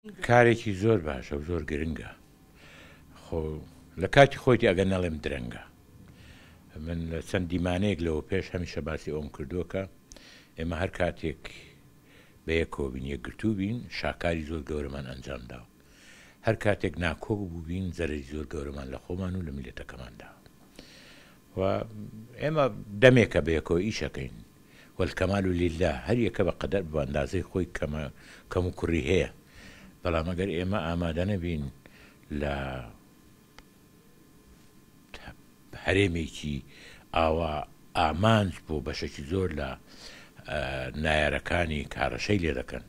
کارێکی زۆر باشە و زۆر گرنگە خۆ لە کاتی خۆیتی ئەگەر نەڵێم درەنگە من لە چەند دیمانەیەک لەوە پێش هەمیشە باسی ئەوم کردووە کە ئێمە هەر کاتێک بە یەکەوە بین یەکگرتوو بین شاکاری زۆر گەورەمان ئەنجام داوە هەر کاتێک ناکۆک بووبین زەرەری زۆر گەورەمان لە خۆمان و لە میللەتەکەمان داوە و ئێمە دەمێکە بەیەکەوە ئیشەکەین والکمال للە هەر یەکە بە قەدەر بە ئەندازەی خۆی کەمە کەم و کوڕی هەیە بەڵام ئەگەر ئێمە ئامادە نەبین لە هەرێمێکی ئاوا ئامانج بۆ بەشێکی زۆر لە نایارەکانی کارەشەی لێ دەکەن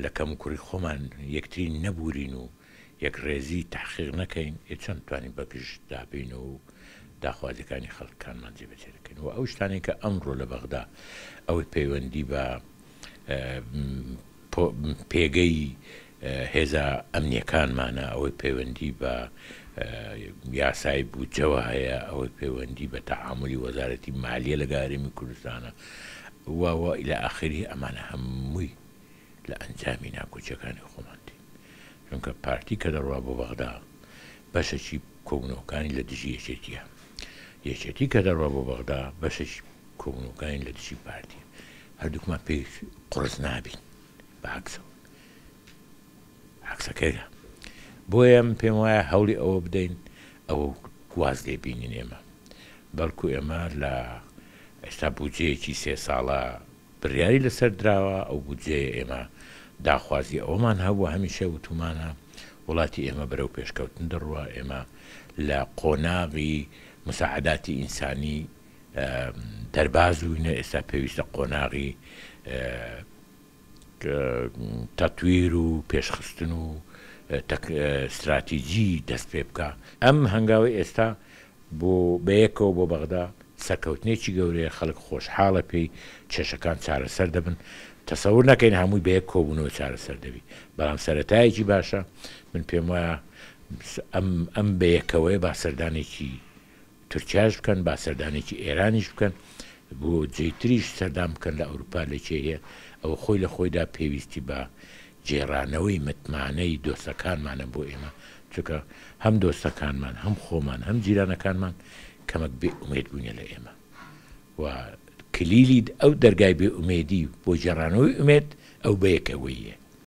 لە کەم و کوڕی خۆمان یەکتری نەبورین و یەکڕێزی تەحقیق نەکەین، ئێ چۆن بتوانین بە گژ دابێینەوە و داخوازیەکانی خەڵکانمان جێبەجێ دەکەین و ئەو شتانەی کە ئەمڕۆ لە بەغدا ئەوەی پەیوەندی بە پێگەی هێزە ئەمنیەکانمانە، ئەوەی پەیوەندی بە یاسای بودجەوە هەیە، ئەوەی پەیوەندی بە تەعامولی وەزارەتی مالیە لەگەڵ هەرێمی کوردستانە و و الی آخره ئەمانە هەمووی لە ئەنجامی ناکۆکیەکانی خۆمان دێن چونکە پارتی کە دەڕوا بۆ بەغدا بەشەکی کۆبونەوەکانی لە دژی یەکێتیە یەکێتی کە دەڕوا بۆ بەغدا بەشەکی کۆبونەوەکانی لە دژی پارتیە هەردووکمان پێی قڕس نابین بە عەکسەوە عەکسەکەیە بۆیە من پێم وایە هەوڵی ئەوە بدەین ئەوە واز لێ بینین ئێمە بەڵکو ئێمە لە ئێستا بودجەیەکی سێ ساڵە بڕیاری لەسەر دراوە، ئەو بودجەیە ئێمە داخوازی ئەوەمان هەبووە هەمیشە وتومانە وڵاتی ئێمە بەرەو پێشکەوتن دەڕوا، ئێمە لە قۆناغی مساعداتی ئینسانی دەرباز بووینە ئێستا پێویستە قۆناغی تەتویر و پێشخستن و ستراتیجی دەست پێ بکا. ئەم هەنگاوەی ئێستا بۆ بەیەکەوە بۆ بەغدا سەرکەوتنێکی گەورەیە، خەڵک خۆشحاڵە پێی، کێشەکان چارەسەر دەبن، تەسەور نەکەین هەمووی بەیەک کۆبوونەوە چارەسەر دەبی، بەڵام سەرەتایەکی باشە، من پێموایە ئەم ئەم بەیەکەوەیە با سەردانێکی تورکیاش بکەن، با سەردانێکی ئێرانیش بکەن، بۆ جێی تریش سەردان بکەن لە ئەوروپا لە کێ هەیە، ئەوە خۆی لە خۆیدا پێویستی بە گێڕانەوەی متمانەی دۆستەکانمانە بۆ ئێمە، چونکە هەم دۆستەکانمان، هەم خۆمان، هەم جیرانەکانمان کەمەک بێ ئومێد بووینە لە ئێمە و کلیلی ئەو دەرگای بێ ئومێدی بۆ گێڕانەوەی ئومێد ئەو بەیەکەوەییە.